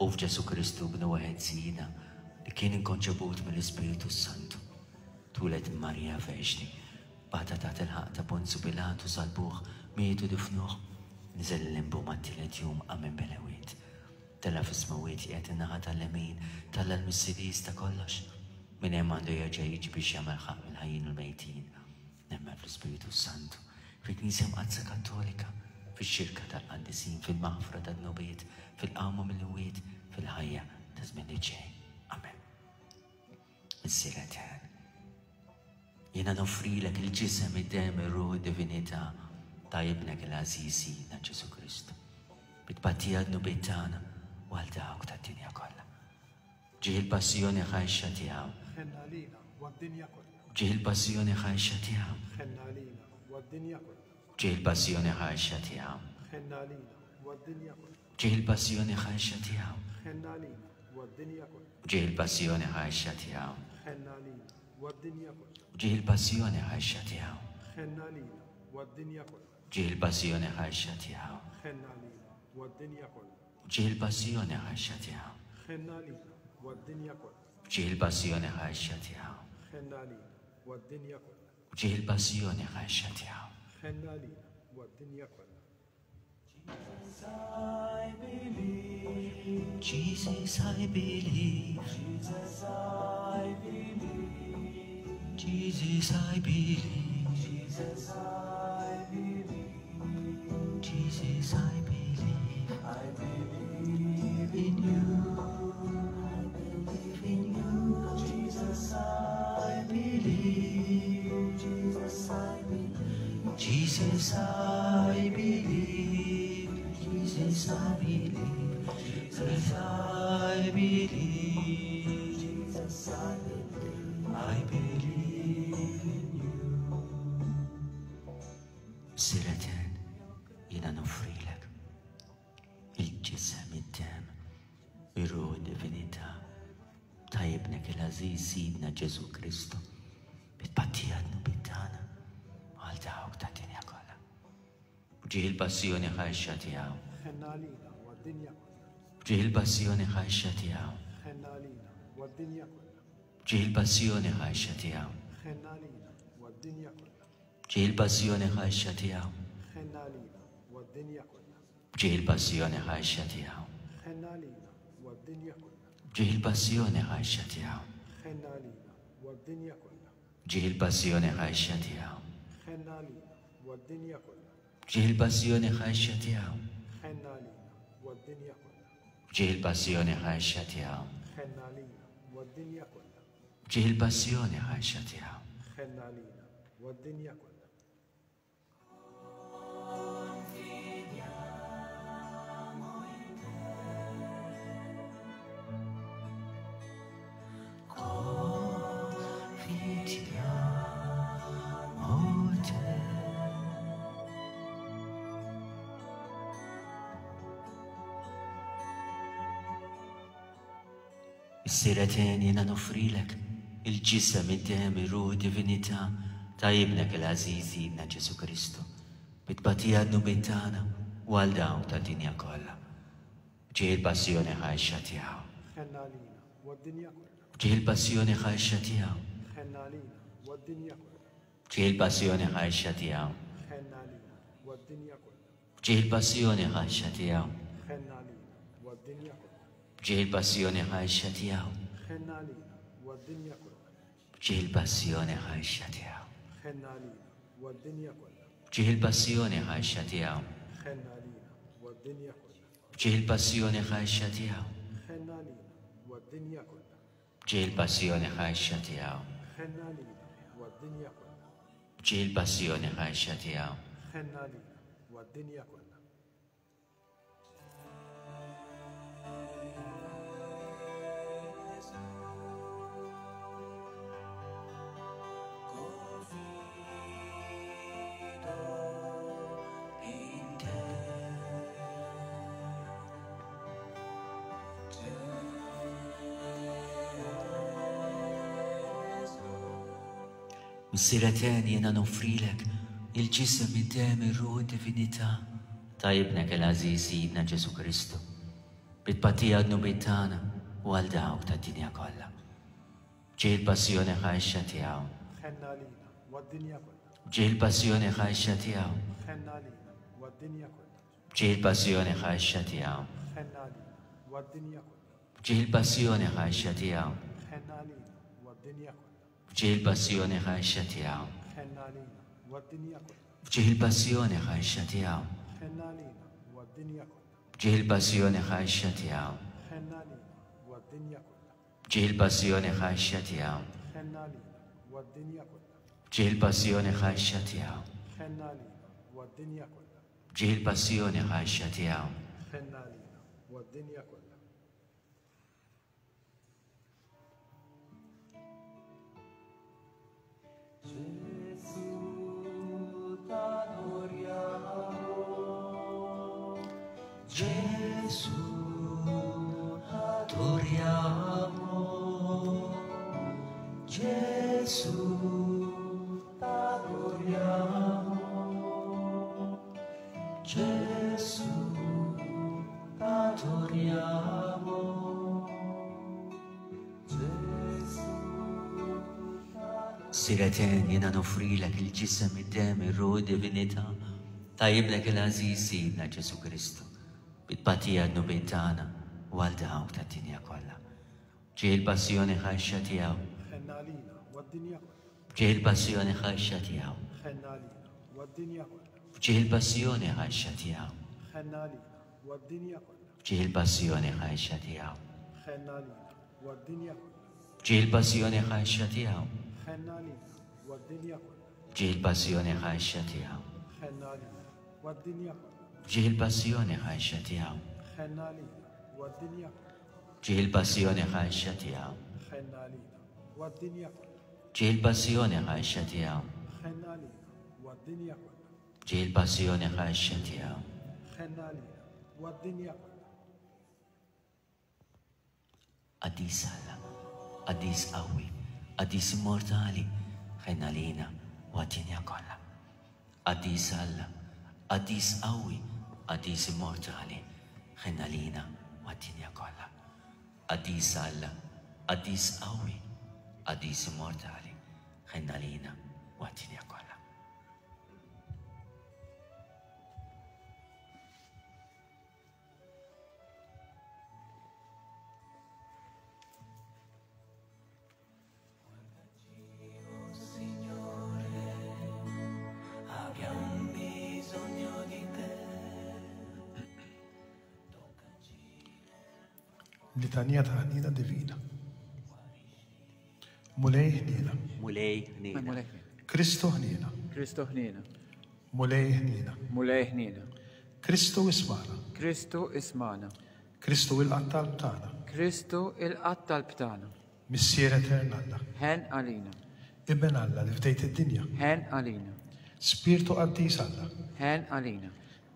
u f'Ġesù Kristu Bnu wieħed Sidna, li kien inkonċebut mill-Ispirtu s-Santu. Twieled minn Marija Verġni, bata taħt il-ħaqq ta' Ponzju Pilatu, salbuh, miet u difnuh, niżel il-limbu mat-tielet jum qam minn bejn l-imwiet. Tela' fis-smewwiet qiegħed in-naħa tal-lemin t'Alla l-Missier li jista' kollox. Minn hemm għandu jerġa' jiġi biex jagħmel ħaqq mill-ħajjin u l-mejtin. Nemmen fl-Ispirtu s-Santu, fil-Knisja Mqaddsa Kattolika, fix-xirka tal-qaddisin, fil-maħfra tad-dnubiet, fil-qawma mill-imwiet, fil-ħajja ta' żmien li ġej. Amen. Missier Etern, jiena noffrilek il-ġisem, id-demm, ir-ruħ, id-divinità ta' Ibnek il-għażiż Sidna Ġesù Kristu, bi tpattija għad-dnubiet tagħna u għal dawk tad-dinja kollha. Ġieħ il-passjoni ħajxa tiegħu. Ħenn għalina u għad-dinja kollha. Ġieħ il-passjoni ħajxa tiegħu. Ħenn għalina u għad-dinja kollha. Ġieħ il-passjoni ħajxa tiegħu. Ħenn għalina u għad-dinja kollha. Ġieħ il-passjoni ħajxa tiegħu. Ħenn għalina u għad-dinja kollha. Ġieħ il-passjoni ħajxa tiegħu. Ħenn għalina u għad-dinja kollha. Ġieħ il-passjoni ħajxa tiegħu. Ħenn għalina u għad-dinja kollha. Ġieħ il-passjoni ħajxa tiegħu. Ħenn għalina u għad-dinja kollha. Ġieħ il-passjoni ħajxa tiegħu. Ħenn għalina u għad-dinja kollha. Ġieħ il-passjoni ħajxa tiegħu. Ħenn għalina u għad-dinja kollha. Ġieħ il-passjoni ħajxa tiegħu. Ħenn għalina u għad-dinja kollha. Jesus, I believe. Jesus, I believe. Jesus, I believe. Jesus, I believe. Jesus, I believe. Jesus, I believe. I believe in you. I believe in you. Jesus, I believe. Jesus, I believe. Jesus, I believe. Jesus, I believe. Jesus, I believe. Jesus, I believe. I believe in you. Missier Etern, jiena noffrilek. Ibnek il-għażiż Sidna Ġesù Kristu, bi tpattija dnubiet tagħna u għal dawk tad-dinja kollha. B'ġieħ il-passjoni ħarxa tiegħu. Ħenna għalina u għad-dinja kollha. B'ġieħ il-passjoni ħarxa tiegħu. Ħenna għalina u għad-dinja kollha. B'ġieħ il-passjoni ħarxa tiegħu. Ħenna għalina u għad-dinja kollha. B'ġieħ il-passjoni ħarxa tiegħu. Ħenna għalina u għad-dinja kollha. B'ġieħ il-passjoni ħarxa tiegħu. Ħenna għalina u għad-dinja kollha. B'ġieħ il-passjoni ħarxa tiegħu. Ħenna għalina u għad-dinja kollha. B'ġieħ il-passjoni ħarxa tiegħu. Ħenna għalina u għad-dinja kollha. B'ġieħ il-passjoni ħarxa tiegħu. Ħenna għalina u għad-dinja kollha. B'ġieħ il-passjoni ħarxa tiegħu. Ħenna għalina u għad-dinja kollha. B'ġieħ il-passjoni ħarxa tiegħu. Ħenna għalina u għad-dinja kollha. Missier Etern, jiena noffrilek il-ġisem, id-demm, ir-ruħ, divinità ta' Ibnek il-għażiż Sidna Ġesù Kristu, bi tbatija għad-dnubiet tagħna u għal dawk tad-dinja kollha. B'ġieħ il-passjoni ħarxa tiegħu. Ħenna għalina u għad-dinja kollha. B'ġieħ il-passjoni ħarxa tiegħu. Ħenna għalina u għad-dinja kollha. B'ġieħ il-passjoni ħarxa tiegħu. Ħenna għalina u għad-dinja kollha. B'ġieħ il-passjoni ħarxa tiegħu. Ħenna għalina u għad-dinja kollha. B'ġieħ il-passjoni ħarxa tiegħu. Ħenna għalina u għad-dinja kollha. B'ġieħ il-passjoni ħarxa tiegħu. Ħenna għalina u għad-dinja kollha. B'ġieħ il-passjoni ħarxa tiegħu. Ħenna għalina u għad-dinja kollha. B'ġieħ il-passjoni ħarxa tiegħu. Ħenna għalina u għad-dinja kollha. B'ġieħ il-passjoni ħarxa tiegħu. Ħenna għalina u għad-dinja kollha. B'ġieħ il-passjoni ħarxa tiegħu. Ħenna għalina u għad-dinja kollha. Missier Etern, jiena noffrilek il-ġisem, id-demm, ir-ruħ, id-divinità ta' Ibnek il-għażiż Sidna Ġesù Kristu, bi tpattija għad-dnubiet tagħna u għal dawk tad-dinja kollha. B'ġieħ il-passjoni ħarxa tiegħu. Ħenna għalina u għad-dinja kollha. B'ġieħ il-passjoni ħarxa tiegħu. Ħenna għalina u għad-dinja kollha. B'ġieħ il-passjoni ħarxa tiegħu. Ħenna għalina u għad-dinja kollha. B'ġieħ il-passjoni ħarxa tiegħu. Ħenna għalina u għad-dinja kollha. B'ġieħ il-passjoni ħarxa tiegħu. Ħenna għalina u għad-dinja kollha. B'ġieħ il-passjoni ħarxa tiegħu. Ħenna għalina u għad-dinja kollha. B'ġieħ il-passjoni ħarxa tiegħu. Ħenna għalina u għad-dinja kollha. B'ġieħ il-passjoni ħarxa tiegħu. Ħenna għalina u għad-dinja kollha. B'ġieħ il-passjoni ħarxa tiegħu. Ħenna għalina u għad-dinja kollha. B'ġieħ il-passjoni ħarxa tiegħu. Ħenna għalina u għad-dinja kollha. Gesù t'adoriamo, Gesù t'adoriamo, Gesù t'adoriamo, Gesù. Missier Etern, jiena noffrilek il-ġisem, id-demm, ir-ruħ, id-divinità ta' Ibnek il-għażiż Sidna Ġesù Kristu, bi tbatija għad-dnubiet tagħna u għal dawk tad-dinja kollha. B'ġieħ il-passjoni ħarxa tiegħu. Ħenna għalina u għad-dinja kollha. B'ġieħ il-passjoni ħarxa tiegħu. Ħenna għalina u għad-dinja kollha. B'ġieħ il-passjoni ħarxa tiegħu. Ħenna għalina u għad-dinja kollha. B'ġieħ il-passjoni ħarxa tiegħu. Ħenna għalina u għad-dinja kollha. B'ġieħ il-passjoni ħarxa tiegħu. Ħenna għalina u għad-dinja kollha. B'ġieħ il-passjoni ħarxa tiegħu. Ħenna għalina u għad-dinja kollha. B'ġieħ il-passjoni ħarxa tiegħu. Ħenna għalina u għad-dinja kollha. B'ġieħ il-passjoni ħarxa tiegħu. Ħenna għalina u għad-dinja kollha. B'ġieħ il-passjoni ħarxa tiegħu. Ħenna għalina u għad-dinja kollha. B'ġieħ il-passjoni ħarxa tiegħu. Ħenna għalina u għad-dinja kollha. Qaddis Alla, Qaddis qawwi, Qaddis immortali, ħenn għalina u għad-dinja kollha. Qaddis Alla, Qaddis qawwi, Qaddis immortali, ħenn għalina u għad-dinja kollha. Qaddis Alla, Qaddis qawwi, Qaddis immortali, ħenn għalina u għad-dinja kollha. Litanija ta' ħnina divina. Mulej ħnina. Mulej ħnina. Kristu ħnina. Kristu ħnina. Mulej ħnina. Mulej ħnina. Kristu ismana. Kristu ismana. Kristu ilqa' t-talb tagħna. Kristu ilqa' t-talb tagħna. Missier etern Alla. Ħenn għalina. Iben Alla li fdejt id-dinja. Ħenn għalina. Spirtu qaddis Alla. Ħenn għalina.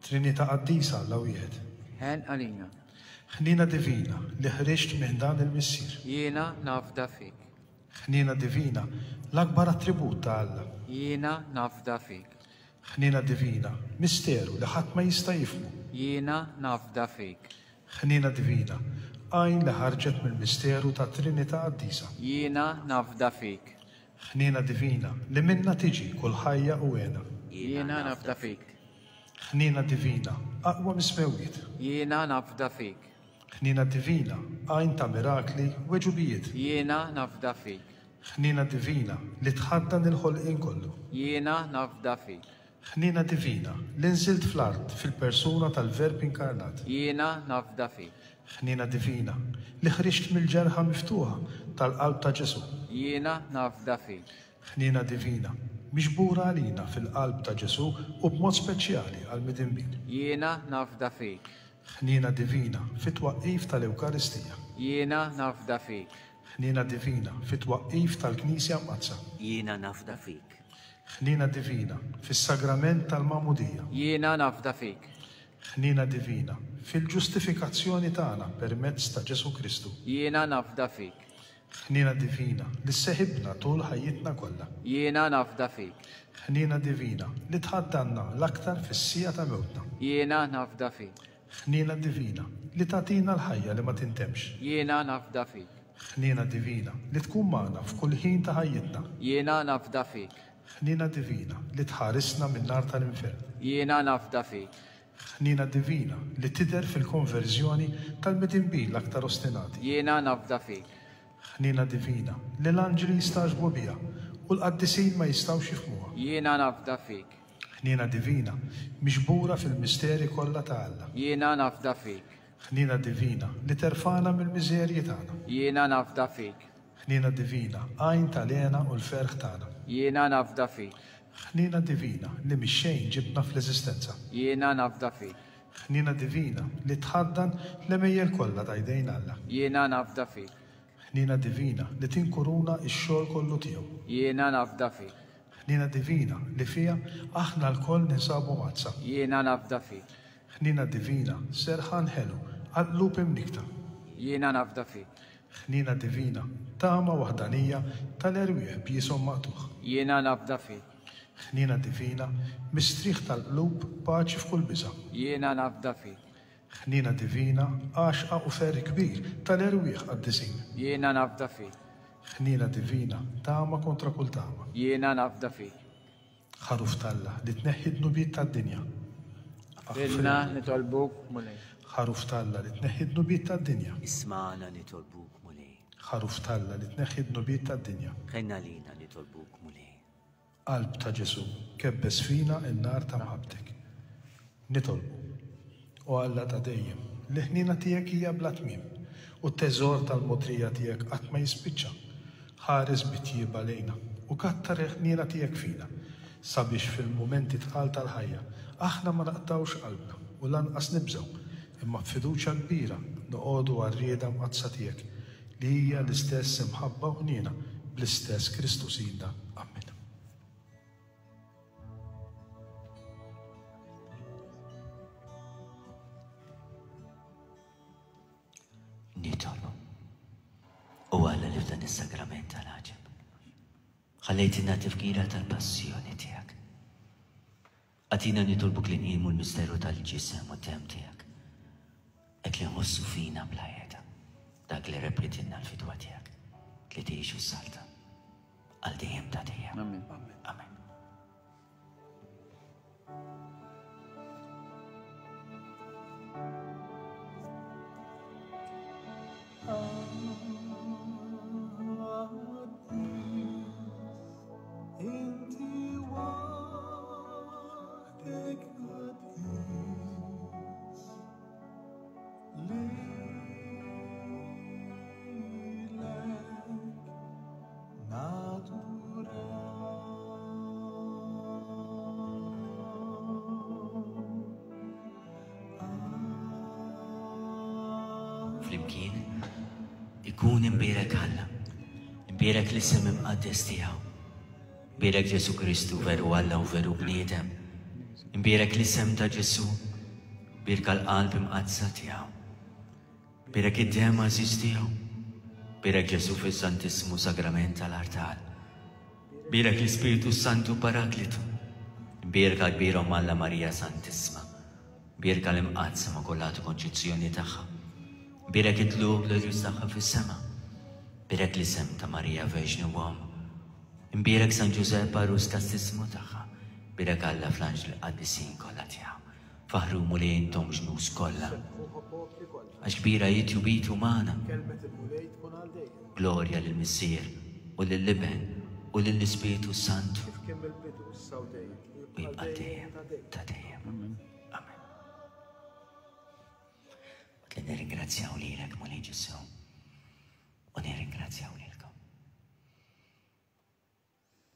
Trinità qaddisa Alla wieħed. Ħenn għalina. Ħniena divina li ħriġt minn dan il-Missier. Jiena nafda fik. Ħniena divina, l-akbar attribut ta' Alla. Jiena nafda fik. Ħniena divina, misteru li ħadd ma jista' jifhmu. Jiena nafda fik. Ħniena divina, għajn li ħarġet mill-misteru tat-Trinità Qaddisa. Jiena nafda fik. Ħniena divina, li minnha tiġi kull ħajja u hena. Jiena nafda fik. Ħniena divina, aqwa mis-smewwiet. Jiena nafda fik. Ħniena divina, għajn ta' mirakli u għeġubijiet. Jiena nafda fik. Ħniena divina, li tħaddan il-ħolqien kollu. Jiena nafda fik. Ħniena divina, li nżilt fl-art fil-persuna tal-Verb inkarnat. Jiena nafda fik. Ħniena divina, li ħriġt mill-ġerħa miftuħa tal-qalb ta' Ġesù. Jiena nafda fik. Ħniena divina, miġbura għalina fil-qalb ta' Ġesù u b'mod speċjali għall-midinbin. Jiena nafda fik. Ħniena divina, fit-twaqqif tal-Ewkaristija. Jiena nafda fik. Ħniena divina, fit-twaqqif tal-Knisja Mqaddsa. Jiena nafda fik. Ħniena divina, fis-sagrament tal-Magħmudija. Jiena nafda fik. Ħniena divina, fil-ġustifikazzjoni tagħna permezz ta' Ġesù Kristu. Jiena nafda fik. Ħniena divina, li sseħibna tul ħajjitna kollha. Jiena nafda fik. Ħniena divina, li tħaddanna l-aktar fis-siegħa ta' mewtna. Jiena nafda fik. Ħniena divina, li tagħtina l-ħajja li ma tintemx. Jiena nafda fik. Ħniena divina, li tkun magħna f'kull ħin ta' ħajjitna. Jiena nafda fik. Ħniena divina, li tħarisna min-nar tal-infern. Jiena nafda fik. Ħniena divina, li tidher fil-konverżjoni tal-midinbin l-aktar ostinati. Jiena nafda fik. Ħniena divina, li l-anġli jistagħġbu biha u l-qaddisin ma jistgħux jifhmuha. Jiena nafda fik. Ħniena divina, miġbura fil-misteri kollha ta' Alla. Jiena nafda fik. Ħniena divina, li terfagħna mill-miżerji tagħna. Jiena nafda fik. Ħniena divina, għajn tal-hena u l-ferħ tagħna. Jiena nafda fik. Ħniena divina, li mix-xejn ġibtna fl-eżistenza. Jiena nafda fik. Ħniena divina, li tħaddan l-għemejjel kollha ta' jdejn Alla. Jiena nafda fik. Ħniena divina, li tinkuruna x-xogħol kollu tiegħu. Jiena nafda fik. Ħniena divina, li fiha aħna lkoll ninsabu mgħaddsa. Jiena nafda fik. Ħniena divina, serħan ħelu għal qlub imnikkta. Jiena nafda fik. Ħniena divina, tama waħdanija tal-erwieħ b'jieshom maqtugħ. Jiena nafda fik. Ħniena divina, mistrieħ tal-qlub, paċi f'kull biża'. Jiena nafda fik. Ħniena divina, għaxqa u ferħ kbir tal-erwieħ qaddisin. Jiena nafda fik. Ħniena divina, tama kontra kull tama. Jiena nafda fik. Ħaruf t'Alla li tneħħi d-dnubiet tad-dinja. Aħfrilna nitolbuk, Mulej. Ħaruf t'Alla li tneħħi d-dnubiet tad-dinja. Ismagħna nitolbuk, Mulej. Ħaruf t'Alla li tneħħi d-dnubiet tad-dinja. Ħenn għalina nitolbuk, Mulej. Qalb ta' Ġesù, kebbes fina n-nar ta' mħabbtek. Nitolbu. O Alla ta' dejjem, l-ħniena tiegħek hija bla tmiem, u t-teżor tal-mogħdrija tiegħek qatt ma jispiċċa. Ħares bi tjieba lejna, u kattar il-ħniena tiegħek fina, sabiex fil-mumenti tqal tal-ħajja, aħna ma naqtgħux qalbna u lanqas nibżgħu, imma b'fiduċja kbira noqogħdu għar-rieda mqaddsa tiegħek, li hija l-istess imħabba u ħniena bl-istess Kristu Sidna. Ammen. Nitolbu. O Alla li f'dan is-sagrament tal-għaġeb ħallejtilna tifkira tal-passjoni tiegħek. Agħtina nitolbuk li nqimu l-misteru tal-ġisem u d-demm tiegħek, hekk li nħossu fina bla heda dak li rebħitilna l-fidwa tiegħek li tgħix u ssaltan għal dejjem ta' dejjem. Amen. Amen. Inti waħdek qaddis, lilek naduraw. Flimkien ikun imbierek Alla, imbierek l-isem imqaddes tiegħu. Imbierek Ġesu Kristu veru Alla u veru bniedem. Imbierek l-isem ta' Ġesu, bierka l-qalb imqaddsa tiegħu. Bierek id-demm għażiż tiegħu. Bierek Ġesu fis-Santissmu Sagrament tal-artal. Bierek l-Ispirtu Santu Paraklitu. Bierka kbira Omm Alla Marija Santissma. Bierka l-Imqaddsa Immakulata Konċizzjoni tagħha. Bierek it-tlugħ glorjuż tagħha fis-sema. Bierek l-isem ta' Marija Verġni u Omm. Imbierek San Ġużepp għarus kastissmu tagħha. Bierek Alla fl-anġli qaddisin kollha tiegħu. Faħħru Mulej intom ġnus kollha. Sebħuh popli kollha. Għax kbira hi tjubitu magħna. Kelmet il-Mulej tkun għal dejjem. Glorja lill-Missier u lill-Iben u lill-Ispirtu s-Santu. Kif kien mill-bidu, issa u dejjem, u U jibqa' jibqa' dejjem dejjem ta' dejjem. ta' dejjem. Amen. Waqt li nirringrazzjaw lilek Mulej Ġesu u nirringrazzjaw lilkom.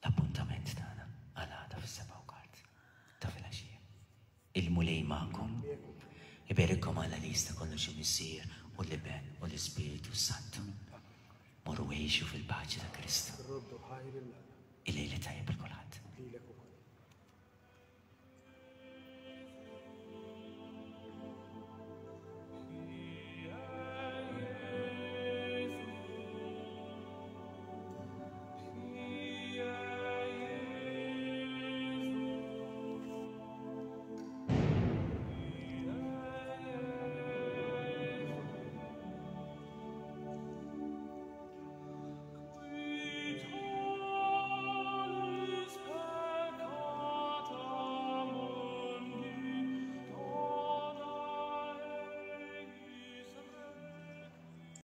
L-appuntament tagħna għal għada fis-7:15 ta' filgħaxija. Il-Mulej magħkom. Iberikkom Alla li jista' kollox il-Missier u l-Iben u l-Ispirtu Santu. Morru għixu fil-paċi ta' Kristu. Roddu ħajr lil Alla. Il-lejl tajjeb lil kulħadd. Lilek ukoll.